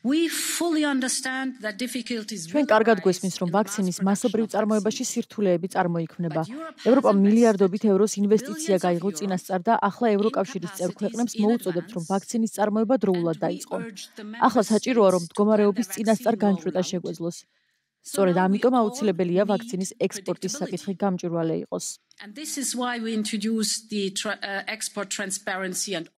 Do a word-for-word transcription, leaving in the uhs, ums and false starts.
We fully understand that difficulties ჩვენ კარგად გვესმის, რომ ვაქცინის მასობრივ წარმოებაში სირთულეები წარმოიქმნება. ევროპამ მილიარდობით ევროს ინვესტიცია გაიღო წინასწარ და ახლა ევროკავშირის წევრ ქვეყნებს მოუწოდებთ, რომ ვაქცინის წარმოება დროულად დაიწყონ. ახლა საჭიროა, რომ მდგომარეობის წინასწარ განჭვრეტა შეგვეძლოს. სწორედ ამიტომ აუცილებელია ვაქცინის ექსპორტის საკითხი გამჭვირვალე იყოს. And this is why we introduced the tra- uh, export transparency and